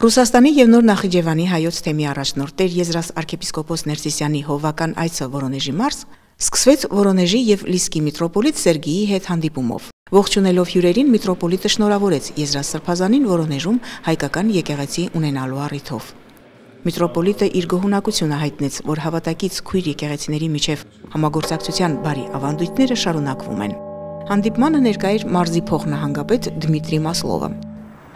Ռուսաստանի եւ Նոր Նախիջևանի հայոց թեմի առաջնորդ Տեր Եզրաս arczepiskopos Ներսիսյանի հովական այցը Վորոնեժի մարզ սկսվեց Վորոնեժի եւ Լիսկի միտրոպոլիտ Սերգեյի հետ հանդիպումով։ Ողջունելով հյուրերին միտրոպոլիտը շնորհավորեց Եզրաս Սրբազանին Վորոնեժում հայկական եկեղեցի ունենալու առիթով։ Միտրոպոլիտը իր գոհունակությունը հայտնեց, որ հավատակից քույր եկեղեցիների միջև համագործակցության բարի ավանդույթները շարունակվում են։ Հանդիպմանը ներկա էր մարզի փոխնահանգապետ Դմիտրի Մասլովը։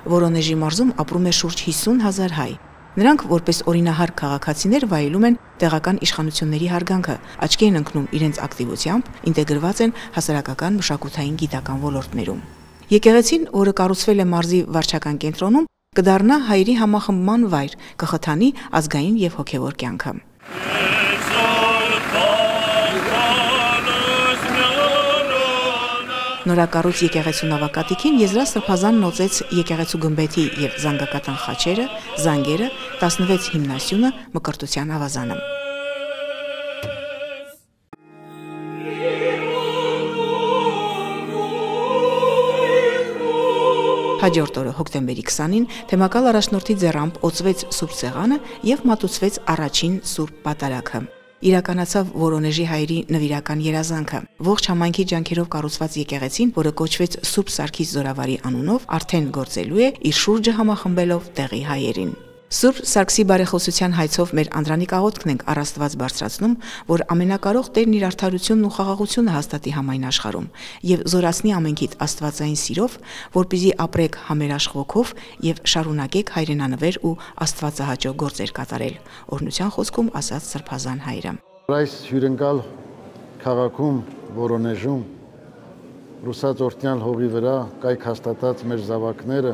Վորոնեժի մարզում ապրում է շուրջ 50,000 հայ։ Նրանք որպես օրինահար քաղաքացիներ վայելում են տեղական իշխանությունների հարգանքը, աչքի են ընկնում իրենց ակտիվությամբ, ինտեգրված են հասարակական մշակութային գիտական ոլորտներում։ Եկեղեցին, որը կառուցվել է մարզի վարչական կենտրոնում, կդառնա հայերի համախմբման վայր, կխթանի ազգային եւ հոգեվոր կյանքը։ Նորակառույց եկեղեցու նավակատիքին Եզրաս Սրբազանն օծեց եկեղեցու գմբեթի եւ զանգակատան խաչերը, զանգերը, 16 հիմնասյունը, մկրտության ավազանը։ Հաջորդ օրը հոկտեմբերի 20-ին թեմակալ առաջնորդի ձեռամբ օծվեց Սուրբ Սեղանը եւ մատուցվեց առաջին Սուրբ Պատարագը։ Իրականացավ Վորոնեժի հայերի նվիրական երազանքը։ Ողջ համայնքի ջանքերով կառուցված եկեղեցին, որը կոչվեց Սուրբ Սարգիս Զորավարի անունով, արդեն գործելու է իր շուրջը համախմբելով տեղի հայերին։ Սուրբ Սարգսի բարեխոսության հայցով մեր անդրանիկ աղոթքն ենք առ Աստված բարձրացնում, որ ամենակարող Տերն իր արդարությունն ու խաղաղությունը հաստատի համայն աշխարհում եւ զորացնի ամենքիդ աստվածային սիրով, որպեսզի ապրեք համերաշխ ոգով եւ շարունակեք հայրենանվեր ու աստվածահաճո գործեր կատարել։ Օրհնության խոսքում ասաց Սրբազան հայրը։ Այս հյուրընկալ քաղաքում Վորոնեժում ռուսաց օրտնյալ հողի վրա կայք հաստատած մեր զավակները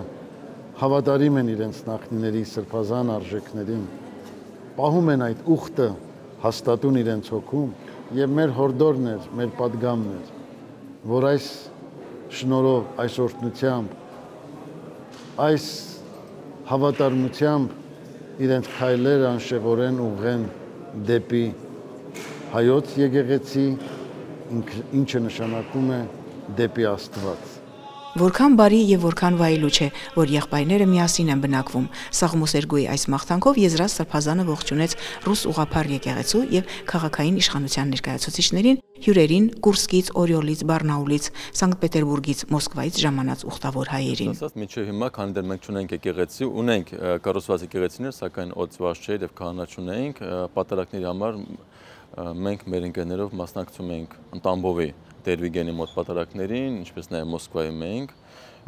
հավատարիմ են իրենց նախնիների սրբազան արժեքներին, պահում են այդ ուխտը հաստատուն իրենց հոգում եւ մեր հորդորն էր, մեր պատգամն էր, որ այս շնորհով, այս օրհնությամբ, այս հավատարմությամբ իրենց քայլերը անշեղորեն ուղղեն դեպի հայոց եկեղեցի, ինչը նշանակում է դեպի Աստված։ Որքան բարի եւ որքան վայելուչ է, որ եղբայրները միասին են բնակվում։ Սաղմոսերգոյի այս մաղթանքով Եզրաս Սրբազանը ողջունեց ռուս ուղղափառ եկեղեցու եւ քաղաքային իշխանության ներկայացուցիչներին, հյուրերին Կուրսկից, Օրիոլից, Բարնաուլից, Սանկտ Պետերբուրգից, Մոսկվայից ժամանած ուխտավոր հայերին։ Ասած մինչև հիմա քանի դեռ մենք չունենք եկեղեցի, ունենք կառուցված եկեղեցիներ, սակայն օծված չէր եւ քահանա չունենք, պատարակների համար մենք մեր ընկերներով մասնակցում ենք Տամբովի Տեր-Վիգենի մոտ պատարակներին, ինչպես նաև Մոսկվայի մենք,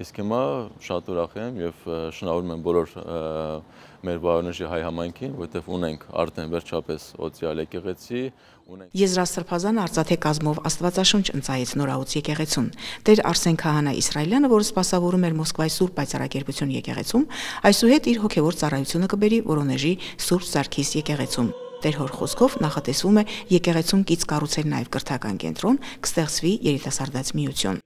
իսկ հիմա շատ ուրախ եմ եւ շնորհավորում եմ բոլոր մեր Վորոնեժի հայ համայնքին, որովհետեւ ունենք արդեն վերջապես օծյալ եկեղեցի, ունենք Եզրաս Սրբազանը արծաթե կազմով Աստվածաշունչ ընծայեց նորաուց եկեղեցուն։ Տեր Արսեն Քահանա Իսրայելյանը, որը սպասավորում էր Մոսկվայի Սուրբ Պայծառակերպություն եկեղեցում, այսուհետ իր հոգեվոր ծառայությունը կբերի Վորոնեժի Սուրբ Սարգիս եկեղեցում։ Տեր հոր խոսքով նախատեսվում է եկեղեցուն կից կառուցել նաև կրթական կենտրոն, կստեղծվի երիտասարդաց միություն։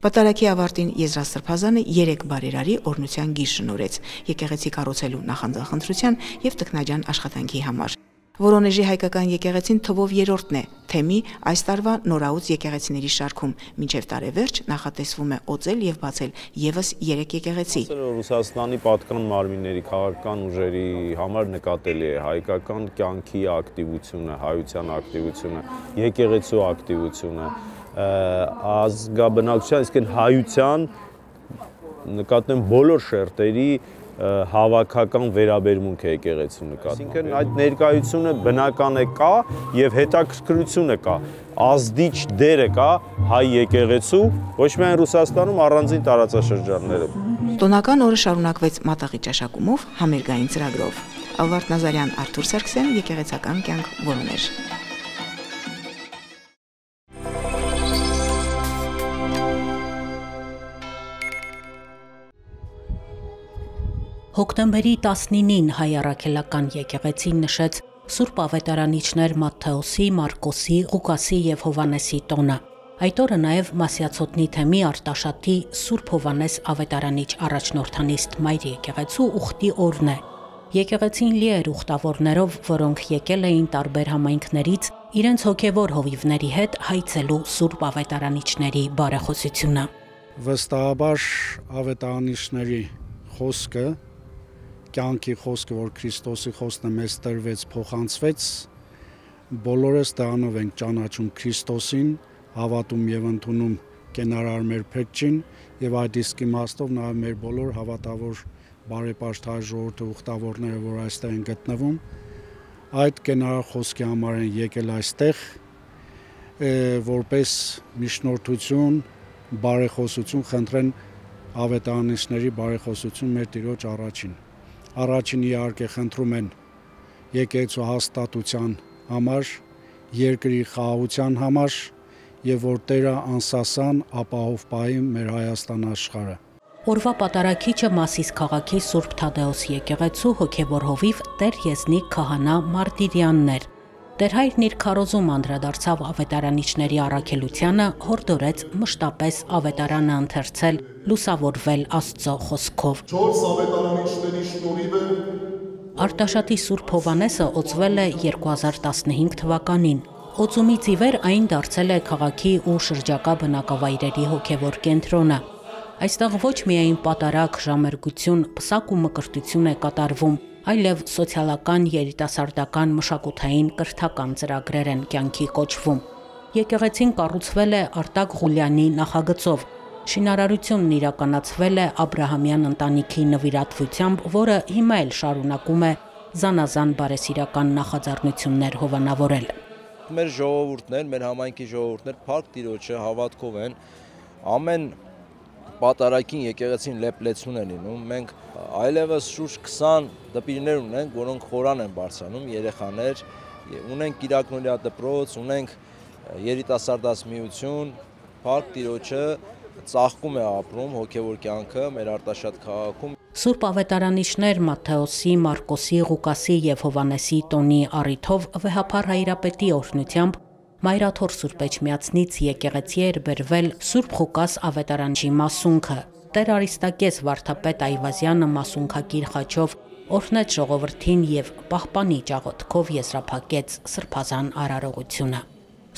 Պատարագի ավարտին Եզրաս Սրբազանը 3 բարերարի օրհնության գիր շնորհեց եկեղեցի կառուցելու նախանձախնդրության եւ տքնաջան աշխատանքի համար։ Վորոնեժի հայկական եկեղեցին թվով երրորդն է թեմի այս տարվա նորաուց եկեղեցիների շարքում, մինչև տարեվերջ նախատեսվում է օծել եւ բացել եւս 3 եկեղեցի։ Ռուսաստանի պատկան մարմինների քաղաքական ուժերի համար նկատելի է հայկական կյանքի ակտիվությունը, հայության ակտիվությունը, եկեղեցու ակտիվությունը, ազգաբնակչության, իսկ հայության նկատեմ բոլոր շերտերի հավաքական վերաբերմունք է եկեղեցու նկատմամբ։ Այսինքն այդ ներկայությունը բնական է կա եւ հետաքրքրությունը կա, ազդիչ դերը կա հայ եկեղեցու, ոչ միայն Ռուսաստանում, առանձին տարածաշրջաններում։ Տոնական օրը շարունակվեց մատաղի ճաշակումով, համերգային ծրագրով։ Ալվարդ Նազարյան, Արթուր Սարգսյան, եկեղեցական կյանք, Վորոնեժ։ Հոկտեմբերի 19-ին հայ առաքելական եկեղեցին նշեց Սուրբ Ավետարանիչներ Մատթեոսի, Մարկոսի, Ղուկասի եւ Հովանեսի տոնը։ Այդ օրը նաեւ Մասյացոտնի թեմի Արտաշատի Սուրբ Հովանես Ավետարանիչ առաջնորդանիստ Մայր եկեղեցու ուխտի օրն է։ Եկեղեցին լի էր ուխտավորներով, որոնք եկել էին տարբեր համայնքներից իրենց հոգևոր հովիվների հետ հայցելու Սուրբ Ավետարանիչների բարեխոսությունը։ Վստահաբար ավետարանիչների խոսքը կյանքի խոսքը, որ Քրիստոսի խոսքն է մեզ տրվեց, փոխանցվեց, բոլորս դրանով ենք ճանաչում Քրիստոսին, հավատում եւ ընդունում կենարար մեր Փրկչին եւ այդ իսկ իմաստով նաեւ մեր բոլոր հավատավոր բարեպաշտ հայ ժողովրդի ուխտավորները, որ այստեղ են գտնվում, այդ կենարար խոսքի համար են եկել այստեղ, որպես միջնորդություն, բարեխոսություն խնդրեն ավետարանիչների բարեխոսություն մեր Տիրոջ առաջին։ Առաջին իհարկե խնդրում են եկեղեցու հաստատության համար, երկրի խաղաղության համար եւ որ Տերը անսասան ապահով պահի մեր Հայաստան աշխարհը։ Օրվա պատարագիչը Մասիս քաղաքի Սուրբ Թադեոս եկեղեցու հոգևոր հովիվ Տեր Եզնիկ քահանա Մարտիրյանն էր։ Տեր հայրն իր քարոզում անդրադարձավ ավետարանիչների առաքելությանը, հորդորեց մշտապես ավետարանը ընթերցել, լուսավորվել Աստծո խոսքով։ 4 ավետարանիչների շնորհիվ Արտաշատի Սուրբ Հովանեսը օծվել է 2015 թվականին։ Օծումից ի վեր այն դարձել է քաղաքի ու շրջակա բնակավայրերի հոգևոր կենտրոնը։ Այստեղ ոչ միայն պատարագ, ժամերգություն, պսակ ու մկրտություն է կատարվում, այլև սոցիալական, երիտասարդական, մշակութային, կրթական ծրագրեր են կյանքի կոչվում։ Եկեղեցին կառուցվել է Արտակ Ղուլյանի նախագծով։ Շինարարությունն իրականացվել է Աբրահամյան ընտանիքի նվիրատվությամբ, որը հիմա էլ շարունակում է զանազան բարեսիրական նախաձեռնություններ հովանավորել։ Մեր ժողովուրդներ, մեր համայնքի ժողովուրդներ Փառք Տիրոջը հավատքով են, ամեն պատարագին եկեղեցին լեփլեցուն է լինում։ Մենք այլևս շուրջ 20 դպիրներ ունենք, որոնք խորան են բարձրանում, երեխաներ, ունենք Կիրակնորիա դպրոց, ունենք երիտասարդասմիություն, Փառք Տիրոջը ծաղկում է ապրում հոգևոր կյանքը մեր Արտաշատ քաղաքում։ Սուրբ ավետարանիչներ Մատթեոսի, Մարկոսի, Ղուկասի եւ Հովանեսի տոնի առիթով վեհափառ հայրապետի օրհնությամբ Մայրաթոր Սուրբ Էջմիածնից եկեղեցի էր բերվել Սուրբ Ղուկաս ավետարանչի մասունքը։ Տեր Արիստակես Վարդապետ Այվազյանը մասունքակիր խաչով օրհնեց ժողովրդին եւ պահպանի ճաղոտքով եզրափակեց սրբազան արարողությունը։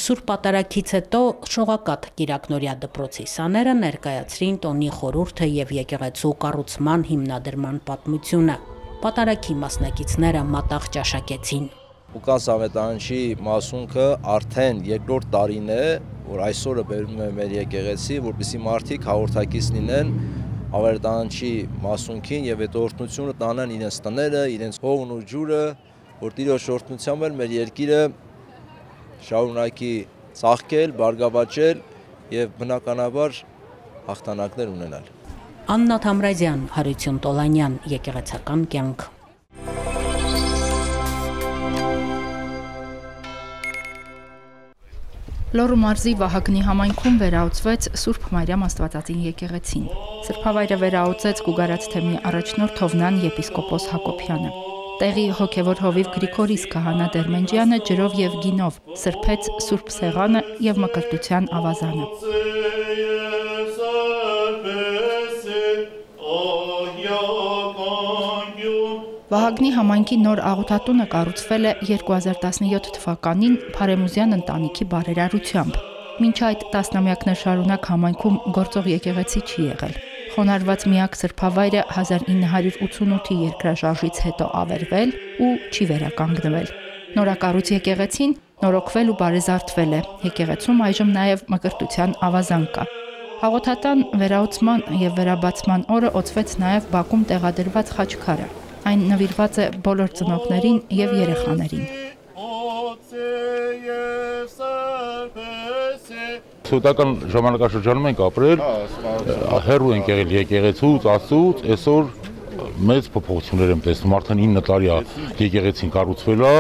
Սուրբ պատարագից հետո շողակաթ Կիրակնորիա դպրոցի սաները ներկայացրին տոնի խորհուրդը եւ եկեղեցու կառուցման հիմնադրման պատմությունը։ Պատարագի մասնակիցները մատաղ ճաշակեցին։ Ղուկաս ավետարանչի մասունքը արդեն երկրորդ տարին է, որ այսօրը բերում է մեր եկեղեցի, որպեսզի մարդիկ հաղորդակից լինեն ավետարանչի մասունքին եւ այդ օրհնությունը տանեն իրենց տները, իրենց հողն ու ջուրը, որ Տիրոջ օրհնությամբ էլ մեր երկիրը շարունակի ծաղկել, բարգավաճել եւ բնականաբար հաղթանակներ ունենալ։ Աննա Թամրազյան, Հարություն Տոլանյան, եկեղեցական կյանք։ Լոռու մարզի Վահագնի համայնքում վերահսկվեց Սուրբ Մարիամ Աստվածածին եկեղեցին։ Սրբավայրը վերահսկեց Գուգարաց թեմի առաջնորդ Հովնան եպիսկոպոս Հակոբյանը։ Տեղի հոգևոր հովիվ Գրիգորիս քահանա Դերմենջյանը ջրով եւ գինով սրբեց Սուրբ Սեղանը եւ մկրտության ավազանը։ Վահագնի համայնքի նոր աղոթատունը կառուցվել է 2017 թվականին Փարեմուզյան ընտանիքի բարերարությամբ։ Մինչ այդ տասնամյակներ շարունակ համայնքում գործող եկեղեցի չի եղել։ Խոնարհված միակ սրբավայրը 1988-ի երկրաշարժից հետո ավերվել ու չի վերականգնվել։ Նորակառույց եկեղեցին նորոգվել ու բարեզարդվել է։ Եկեղեցում այժմ նաև մկրտության ավազան կա։ Աղոթատան վերահսկման եւ վերաբացման օրը օծվեց նաև Բաքում տեղադրված խաչքարը։ Այն նվիրված է բոլոր ծնողներին եւ երեխաներին։ Սովետական ժամանակաշրջանում ենք ապրել, հեռու ենք եղել եկեղեցուց, Աստծուց, այսօր մեծ փոփոխություններ եմ տեսնում, արդեն 9 տարի է եկեղեցին կառուցվել է,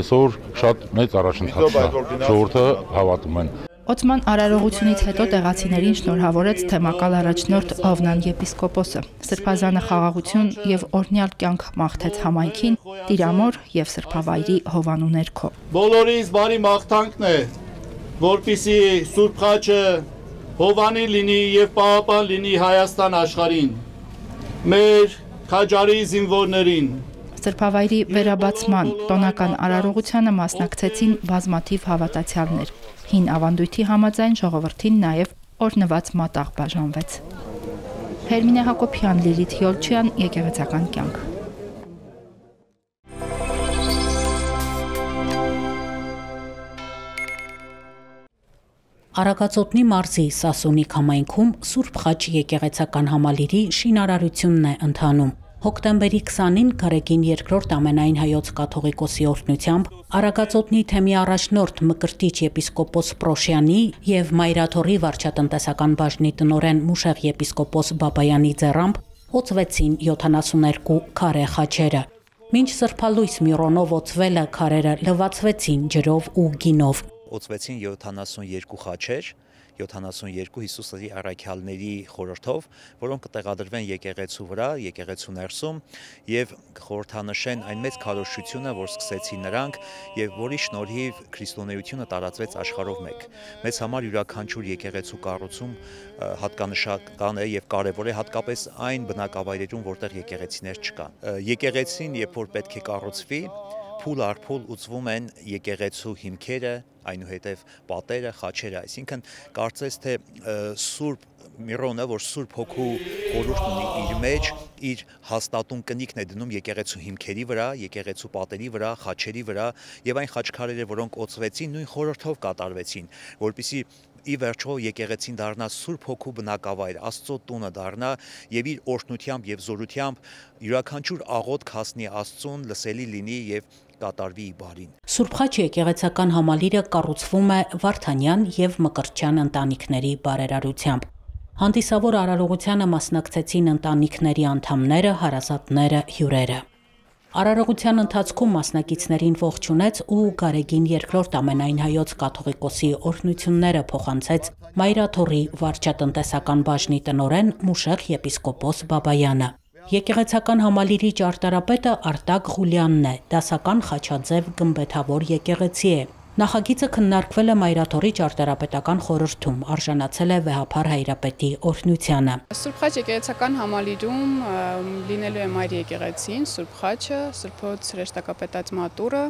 այսօր շատ մեծ առաջընթաց է, ժողովուրդը հավատում են։ Օծման արարողությունից հետո տեղացիներին շնորհավորեց թեմակալ առաջնորդ Հովնան եպիսկոպոսը։ Սրբազանը խաղաղություն եւ օրհնյալ կյանք մաղթեց համայնքին, Տիրամոր եւ սրբավայրի հովանու ներքո։ Բոլորիս բարի մաղթանքն է, որպեսզի Սուրբ խաչը հովանի լինի եւ պահապան լինի Հայաստան աշխարհին։ Մեր քաջարի զինվորներին Սրբավայրի վերաբացման տոնական արարողությանը մասնակցեցին բազմաթիվ հավատացյալներ։ Հին ավանդույթի համաձայն ժողովրդին նաև օրհնված մատաղ բաժանվեց։ Հերմինե Հակոբյան, Լիլիթ Յոլչյան, եկեղեցական կյանք։ Արագածոտնի մարզի Սասունիկ համայնքում Սուրբ Խաչ եկեղեցական համալիրի շինարարությունն է ընթանում։ Հոկտեմբերի 20-ին Գարեգին II ամենայն հայոց կաթողիկոսի օրհնությամբ Արագածոտնի թեմի առաջնորդ Մկրտիչ եպիսկոպոս Պրոշյանի եւ Մայրաթորի վարչատնտեսական բաժնի տնօրեն Մուշեղ եպիսկոպոս Բաբայանի ձեռամբ օծվեցին 72 քարե խաչերը։ Մինչ սրբալույս Միրոնով օծվելը քարերը լվացվեցին ջրով ու գինով։ Օծվեցին 72 խաչեր, 72 Հիսուսի առաքյալների խորհրդով, որոնք կտեղադրվեն եկեղեցու վրա, եկեղեցու ներսում եւ խորհրդանշեն այն մեծ քարոզչությունը, որ սկսեցին նրանք եւ որի շնորհիվ քրիստոնեությունը տարածվեց աշխարհով մեկ։ Մեզ համար յուրաքանչյուր եկեղեցու կառուցում հատկանշական է եւ կարեւոր է հատկապես այն բնակավայրերում, որտեղ եկեղեցիներ չկան։ Եկեղեցին, երբ որ պետք է կառուցվի, փուլ առ փուլ ուծվում են եկեղեցու հիմքերը, այնուհետև պատերը, խաչերը, այսինքն կարծես թե Սուրբ Միրոնը, որ Սուրբ Հոգու խորհուրդ ունի իր մեջ, իր հաստատուն կնիքն է դնում եկեղեցու հիմքերի վրա, եկեղեցու պատերի վրա, խաչերի վրա եւ այն խաչքարերը, որոնք օծվեցին, նույն խորհրդով կատարվեցին, որպեսզի ի վերջո եկեղեցին դառնա Սուրբ Հոգու բնակավայր, Աստծո տունը դառնա եւ իր օրհնությամբ եւ զորությամբ յուրաքանչյուր աղոթք հասնի Աստծուն, լսելի լինի եւ կատարվի բարին։ Սուրբ Խաչ եկեղեցական համալիրը կառուցվում է Վարդանյան եւ Մկրտչյան ընտանիքների բարերարությամբ։ Հանդիսավոր արարողությանը մասնակցեցին ընտանիքների անդամները, հարազատները, հյուրերը։ Արարողության ընթացքում մասնակիցներին ողջունեց ու Գարեգին II ամենայն հայոց կաթողիկոսի օրհնությունները փոխանցեց Մայրաթորի վարչատնտեսական բաժնի տնօրեն Մուշեղ եպիսկոպոս Բաբայանը։ Եկեղեցական համալիրի ճարտարապետը Արտակ Ղուլյանն է, դասական խաչաձև գմբեթավոր եկեղեցի է։ Նախագիծը քննարկվել է Մայրաթորի ճարտարապետական խորհրդում, արժանացել է վեհափառ հայրապետի օրհնությանը։ Սուրբ Խաչ եկեղեցական համալիրում լինելու է Մայր եկեղեցին, Սուրբ Խաչը, Սրբոց հրեշտակապետած մատուրը,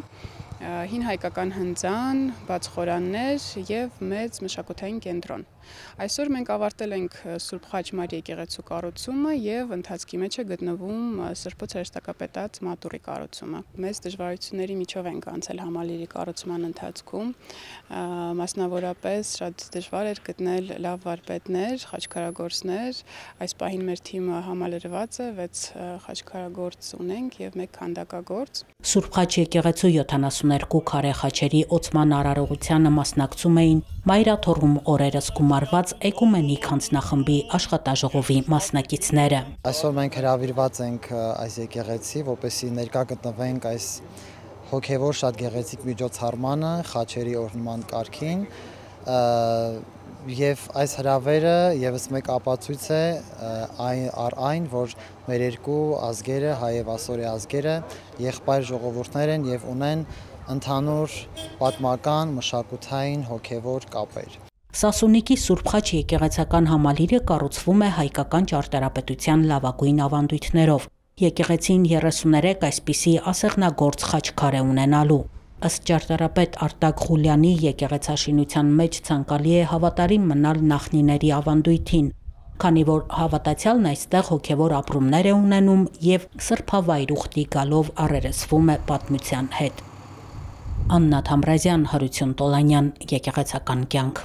հին հայկական հնձան, բաց խորաններ եւ մեծ մշակութային կենտրոն։ Այսօր մենք ավարտել ենք Սուրբ Խաչ Մայր եկեղեցու կառուցումը եւ ընթացքի մեջ է գտնվում Սրբոց հրեշտակապետած մատուրի կառուցումը։ Մեծ դժվարությունների միջով ենք անցել համալիրի կառուցման ընթացքում, մասնավորապես շատ դժվար էր գտնել լավ վարպետներ, խաչքարագործներ։ Այս պահին մեր թիմը համալրված է, 6 խաչքարագործ ունենք եւ 1 քանդակագործ։ Սուրբ Խաչ եկեղեցու 72 քարե խաչերի օծման արարողությանը մասնակցում էին Մայրաթորում օրերս գումարված էկումենիկ հանձնախմբի աշխատաժողովի մասնակիցները։ Այսօր մենք հրավիրված ենք այս եկեղեցի, որպեսզի ներկա գտնվենք այս հոգևոր շատ գեղեցիկ միջոցառմանը, խաչերի օրհնման կարգին, եւ այս հրավերը եւս մեկ ապացույց է այն, որ մեր երկու ազգերը, հայ եւ ասորի ազգերը, եղբայր ժողովուրդներ են եւ ունեն ընդհանուր պատմական, մշակութային, հոգևոր կապեր։ Սասունիկի Սուրբ Խաչ եկեղեցական համալիրը կառուցվում է հայկական ճարտարապետության լավագույն ավանդույթներով։ Եկեղեցին 33 այսպիսի ասեղնագործ խաչքար է ունենալու։ Ըստ ճարտարապետ Արտակ Ղուլյանի եկեղեցաշինության մեջ ցանկալի է հավատարիմ մնալ նախնիների ավանդույթին, քանի որ հավատացյալն այստեղ հոգևոր ապրումներ է ունենում եւ սրբավայր ուխտի գալով առերեսվում է պատմության հետ։ Աննա Թամրազյան, Հարություն Տոլանյան, Եկեղեցական կյանք։